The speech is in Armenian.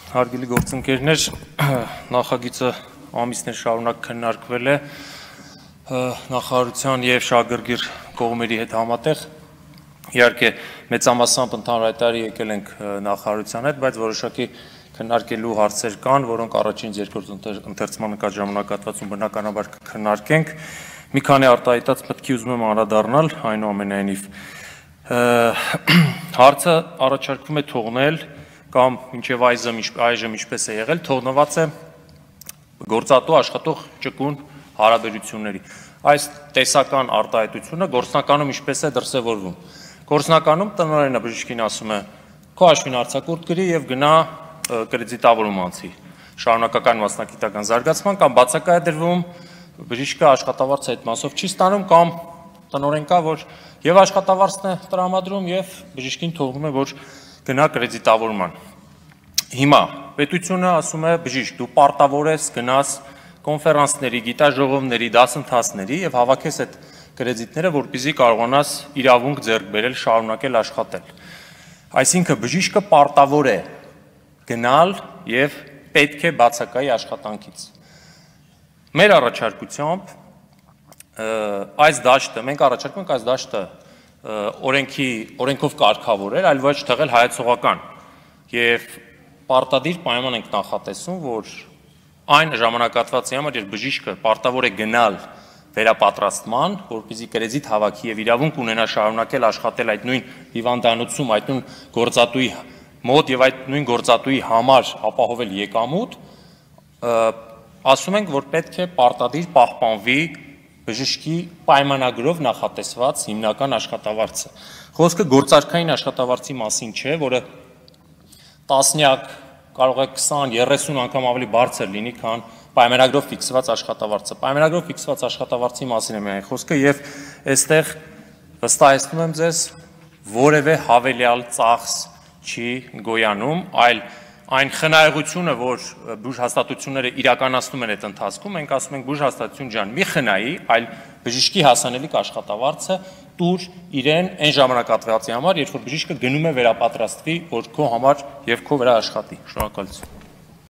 Հարգելի գործընկերներ, նախագիծը ամիսներ շարունակ քննարկվել է նախարարության եւ շահագրգիռ կողմերի հետ համատեղ։ Իհարկե մեծամասամբ ընդհանրայտարի եկել ենք նախարարության հետ, բայց որոշակի քննարկելու հարցեր կան, որոնք առաջին երկրորդ ընթերցման ընկած ժամանակահատվածում բնականաբար կքննարկենք։ Մի քանի արտահայտած մտքի ուզում եմ անդրադառնալ, այնուամենայնիվ հարցը առաջարկվում է թողնել կամ մինչև այժմ ինչպես է եղել, թողնված է գործատու աշխատող ճկուն հարաբերությունների։ Այս տեսական արտահայտությունը գործնականում ինչպես է դրսևորվում։ Գործնականում տնօրենը բժիշկին ասում է, քո հաշվին արձակուրդ գրի եւ գնա կրեդիտավորում անցի, շարունակական մասնագիտական զարգացման կամ բացակայ է դրվում, բժիշկը աշխատավարձը այդ մասով չի ստանում կամ տնօրեն կա, որ եւ աշխատավարձն է տրամադրում եւ բժիշկին թողնում է, որ գնա կրեդիտավորման։ Հիմա պետությունը ասում է բժիշկ, դու պարտավոր ես գնաս կոնֆերանսների, գիտաժողովների, դասընթացների եւ հավաքես այդ կրեդիտները, որպեսզի կարողանաս իրավունք ձեռք բերել, շարունակել աշխատել։ Այսինքն բժիշկը պարտավոր է գնալ եւ պետք է բացակայի աշխատանքից։ Մեր առաջարկությամբ այս դաշտը, մենք առաջարկում ենք այս դաշտը օրենքով կարգավորել, այլ ոչ թողել հայեցողական եւ պարտադիր պայման ենք նախատեսում, որ այն ժամանակահատվածի համար, երբ բժիշկը պարտավոր է գնալ վերապատրաստման, որպեսզի կրեդիտ հավաքի եւ իրավունք ունենա շարունակել աշխատել այդ նույն հիվանդանոցում, այդ նույն գործատուի մոտ եւ այդ նույն գործատուի համար ապահովել եկամուտ, ասում ենք, որ պետք է պարտադիր պահպանվի բժշկի պայմանագրով նախատեսված հիմնական աշխատավարձը։ Խոսքը գործարքային աշխատավարձի մասին չէ, որը տասնյակ, կարող է 20-30 անգամ ավելի բարձր լինի, քան պայմանագրով ֆիքսված աշխատավարձը։ Պայմանագրով ֆիքսված աշխատավարձի մասին է միայն խոսքը եւ այստեղ վստահեցնում եմ ձեզ, որևէ հավելյալ ծախս չի գոյանում, այլ այն խնայողությունը, որ բուժհաստատությունները իրականացնում են այդ ընթացքում, մենք ասում ենք բուժհաստատություն ջան, մի խնայի, այլ բժիշկի հասանելիք աշխատավարձը տուր իրեն այն ժամանակահատվածի համար, երբ որ բժիշկը գնում է վերապատրաստվի, որ քո համար եւ քո վրա աշխատի։ Շնորհակալություն։